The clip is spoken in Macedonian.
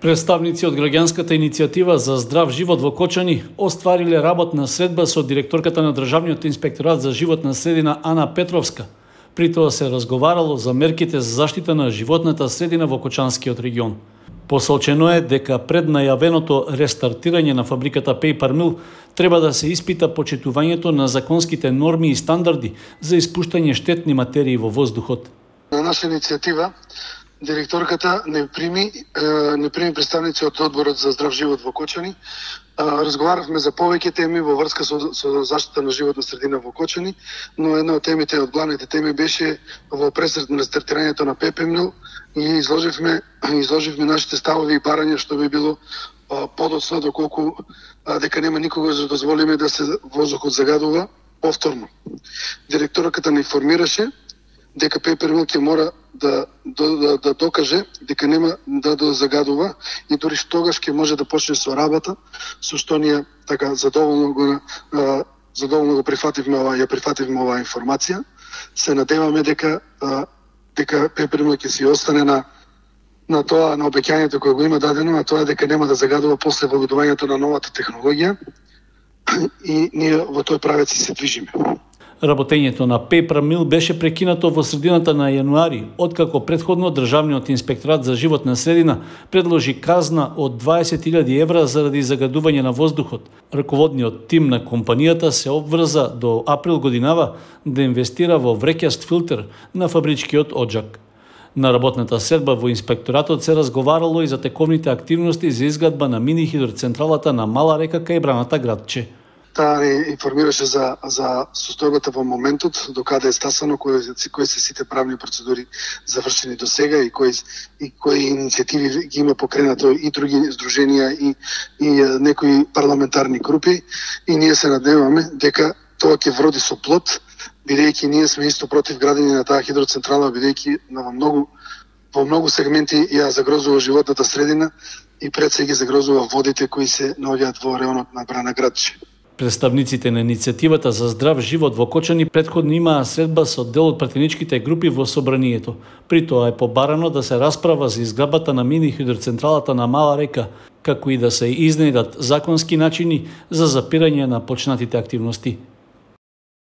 Представници од граѓанската иницијатива за здрав живот во Кочани оствариле работна средба со директорката на Државниот инспекторат за животна средина Ана Петровска. При тоа се разговарало за мерките за заштита на животната средина во Кочанскиот регион. Посочено е дека пред најавеното рестартирање на фабриката Paper Mill треба да се испита почитувањето на законските норми и стандарди за испуштање штетни материи во воздухот. На наша иницијатива директорката не прими представници од Одборот за здрав живот во Кочани. Разговаравме за повеќе теми во врска со заштита на животна средина во Кочани, но една од темите, од главните теми беше во пресред на рестартирањето на Paper Mill и изложивме нашите ставови и барања што би било подоцна доколку дека нема никога да дозволиме да се воздухот загадува повторно. Директорката не информираше дека Paper Mill ќе мора да докаже дека нема да загадува и дури тогаш ќе може да почне со работа, со што ние така задоволно го прифативме оваа информација. Се надеваме дека Paper Mill ќе си остане на тоа, на обеќањето кое го има дадено, а тоа е дека нема да загадува после воведувањето на новата технологија и ние во тој правец се движиме. Работењето на Paper Mill беше прекинато во средината на јануари, откако претходно Државниот инспекторат за животна средина предложи казна од 20.000 евра заради загадување на воздухот. Раководниот тим на компанијата се обврза до април годинава да инвестира во вреќаст филтер на фабричкиот оджак. На работната средба во инспекторатот се разговарало и за тековните активности за изградба на мини хидроцентралата на Мала река кај браната Градче. Таа не информираше за состојбата во моментот, до каде е стасано, кои се сите правни процедури завршени до сега и кои иницијативи ги има покренато и други здруженија и некои парламентарни групи. И ние се надеваме дека тоа ќе вроди со плод, бидејќи ние сме исто против градење на таа хидроцентрала, бидејќи во многу сегменти ја загрозува животната средина и пред се ги загрозува водите кои се наоѓаат во реонот на Брана Градче. Представниците на иницијативата за здрав живот во Кочани претходно имаа средба со дел од пратеничките групи во собранието. При тоа е побарано да се расправа за изградбата на мини хидроцентралата на Мала река, како и да се изнедат законски начини за запирање на почнатите активности.